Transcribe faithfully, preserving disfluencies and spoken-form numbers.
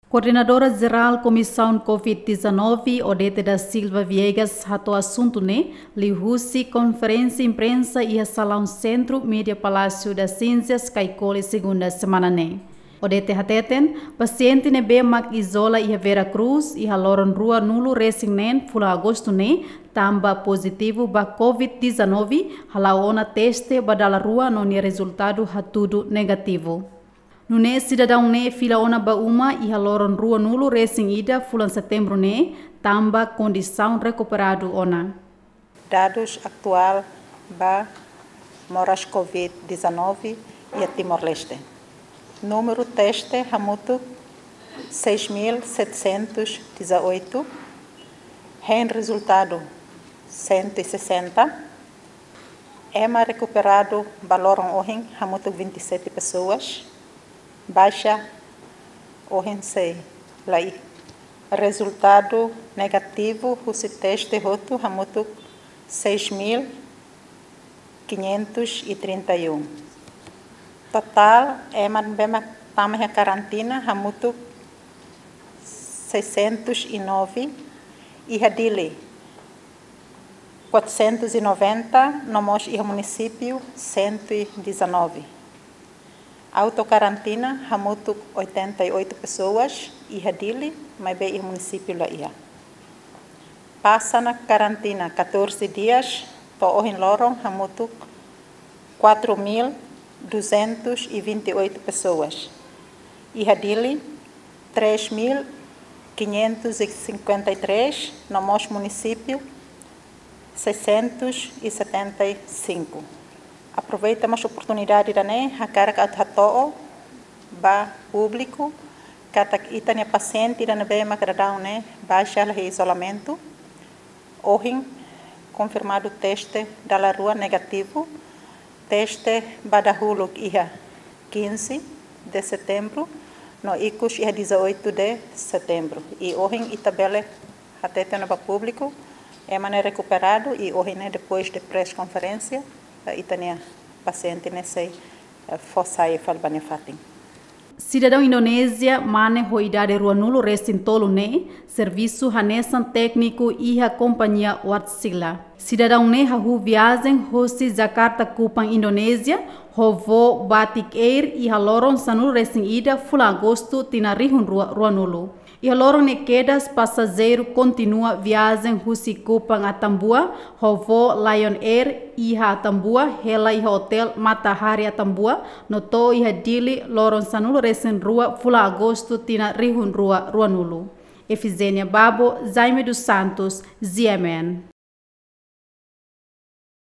Koordenadora Jerál Komisaun Covid dezanove, Odete da Silva Viegas, hato'o asuntu ne'e liuhusi konferénsia imprensa iha salaun Sentru Mídia Palácio das Ciências, Caicoli, segunda semana ne'e. Odete hateten, pasiente ne'ebé mak izola iha Vera Cruz iha loron ruanulu resin neen fulan Agostu ne'e, tanba pozitivu ba Covid dezanove, hala'o ona teste ba dala rua no nia rezultadu hatudu negativu. Nune'e sidadaun ne'e fila ona ba uma iha loron ruanulu resin ida fulan Setembru ne'e, tanba kondisaun rekuperadu ona. Dadus atuál ba moras Covid dezanove iha Timor-Leste. Númeru teste hamutuk seis mil setecentos e dezoito, hein rezultadu cento e sessenta, ema rekuperadu ba loron ohin hamutuk vinte e sete pessoas, baixa ohin sei la iha. Rezultadu negativu husi teste hotu hamutuk seis mil quinhentos e trinta e um. Totál ema ne'ebé mak tama iha karantina hamutuk seiscentos e nove, iha Dili quatrocentos e noventa, no mós iha munisípiu cento e dezanove. Autokarantina hamutuk oitenta e oito pessoas iha Dili, maibé iha munisípiu la iha. Pasa ona karantina catorze dias, to'o ohin loron hamutuk quatro mil duzentos e vinte e oito pessoas. Iha Dili, três mil quinhentos e cinquenta e três, no mós munisípiu, seiscentos e setenta e cinco. Aproveita mós oportunidade ida-ne'e, hakarak atu hato'o ba públiku katak ita-nia pasiente ida ne'ebé mak daudaun ne'e baixa hela iha izolamentu, ohin konfirmadu teste dala rua negativu, teste ba dahuluk iha quinze de Setembro, no ikus iha dezoito de Setembro. I ohin ita bele hatete ona ba públiku, ema ne'e rekuperadu, i ohin ne'e depois de press conferência, eh, ita-nia pasiente ne'e sei, eh, fó sai fali ba nia fatin. Sidadaun Indonézia mane ho idade ruanulu resin tolu ne'e servisu hanesan tékniku iha kompañia Wärtsilä. Sidadaun ne'e hahú viajen husi Jakarta Kupang, Indonézia, ho voo Batik Air iha loron sanulu resin ida fulan Agostu tinan rihun rua ruanulu. Iha loron ne'e kedas pasajeiru kontinua viajen husi Kupang Atambua ho voo Lion Air iha Atambua, hela iha otél Matahari Atambua, no to'o iha Dili loron sanulu resin rua fulan Agostu tinan rihun rua ruanulu. Efigénia Babo, Jaime dos Santos, G M N.